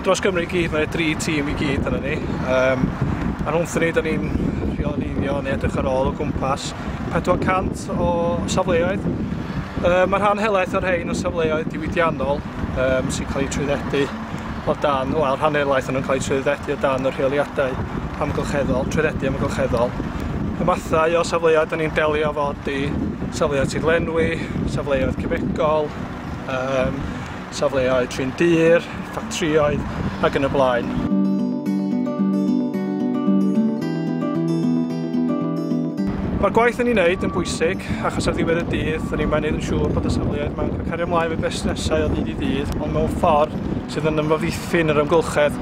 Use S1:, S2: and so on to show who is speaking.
S1: Dros Gymru i gyd, mae 3 tîm i gyd yna ni. A rhwngthyn ni, da ni'n rheoleiddio neu edrych ar ôl o gwmpas 400 o safleoedd. Mae rhan helaeth o'r rhain yn safleoedd diwydiannol sy'n cael eu trwyddedu o dan, wel, rhan helaeth o'n nhw'n cael eu trwyddedu o dan y rheoliadau amgylcheddol, trwyddedu amgylcheddol. Y mathau o safleoedd da ni'n delio efo ydy safleoedd tirlenwi, safleoedd cemegol, safleoedd trin dur, ffatrïoedd ac yn y blaen. Mae'r gwaith yn ei wneud yn bwysig, achos ar ddiwedd y dydd, da ni'n mynd yn siŵr bod y safleoedd ma'n cael cario ymlaen efo busnesau o ddydd i ddydd, ond mewn ffordd sydd yn ymddiffyn yr amgylchedd.